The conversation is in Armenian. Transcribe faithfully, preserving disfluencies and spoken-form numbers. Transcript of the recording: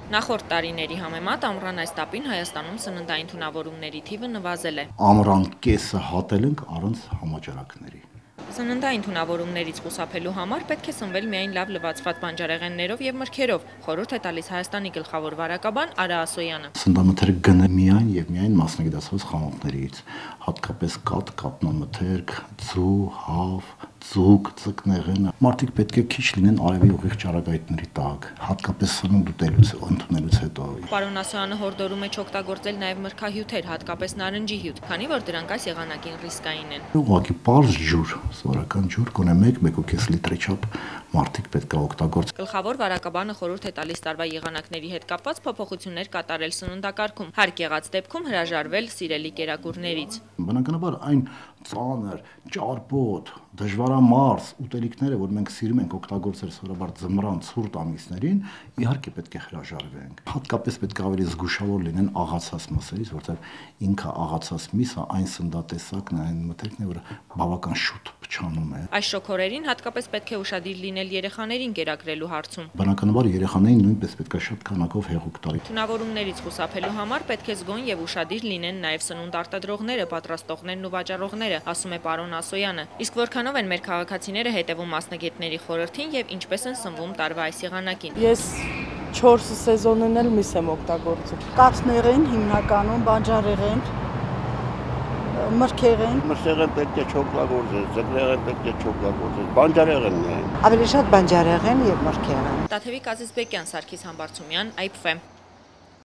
Նախորդ տարիների համեմատ ամռան այս տապին Հայաստանում սննդային թունավորումների թիվը նվազել է։ Ամռան կեսը հատել ենք առանց համաճարակների։ Սննդային թունավորումներից խուսափելու համար պետք է սնվել միայն լավ լվացված բանջարեղեններով եւ մրգերով, խորհուրդ է տալիս Հայաստանի գլխավոր վարակաբան Արա Ասոյանը։ Սննդամթերք գնը միայն եւ միայն մասնագիտացված խանութներից, հատկապես կաթ, կատնամթերք, ձու, հավ, ձուկ, ծկնեղենը։ Մարդիկ պետք է քիչ լինեն արևի ուղիղ ճառագայթների տակ, հատկապես սնունդ ուտելուց, ընդունելուց հետո։ Պարոն Ասոյանը հորդորում է չօգտագործել նաեւ մրգահյութեր, հատկապես նարնջի հյութ, քանի որ դրանք այս եղանակին ռիսկային են։ Ուղղակի պարզ ջուր, սովորական ջուր, գոնե մեկ-մեկ ու կես լիտրի չափ մարդիկ պետք է օգտագործեն։ Գլխավոր վարակաբանը խորհուրդ է տալիս տարվա եղանակների հետ կապված փոփոխություններ կատարել սննդակարգում, հարկ եղած դեպքում հրաժարվել սիրելի կերակուրներից։ Բնականաբար այն ծանր, ճարպոտ, դժվարամարս ուտելիքները, որ մենք սիրում ենք օգտագործել սովորաբար ձմռան ցուրտ ամիսներին, իհարկե պետք է հրաժարվենք։ Հատկապես պետք է ավելի զգուշավոր լինեն աղացած մսերից, որտեղ ինքը աղացած միսը այն սննդատեսակն է, այն մթերքն է, որը բավական շուտ փչանում է։ Այս շոգորերին հատկապես պետք է ուշադիր լինել երեխաներին կերակրելու հարցում։ Բնականաբար երեխաներին նույնպես պետք է շատ քանակով հեղուկ տալ։ Թունավորումներից խուսափելու համար պետք է զգոն եւ ուշադիր լինեն նաեւ սնունդ արտադրողները, պատրաստողներն ու վաճառողները, ասում է պարոն Ասոյանը։ Իսկ որքանով են մեր քաղաքացիները հետևում մասնագետների խորհրդին եւ ինչպես են սնվում տարվա այս եղանակին։ Ես չորս սեզոնն էլ միս եմ օգտագործում։ Կաթներեն հիմնականում, բանջարեղեն, մրգեղեն։ Մրգեղեն պետք է չօգտագործել, ձկներեն պետք է չօգտագործել, բանջարեղենն է։ Ավելի շատ բանջարեղեն եւ մրգեղեն։ Տաթևիկ Ազիզբեկյան, Սարգիս Համբարձումյան, Այ Փ Ֆ։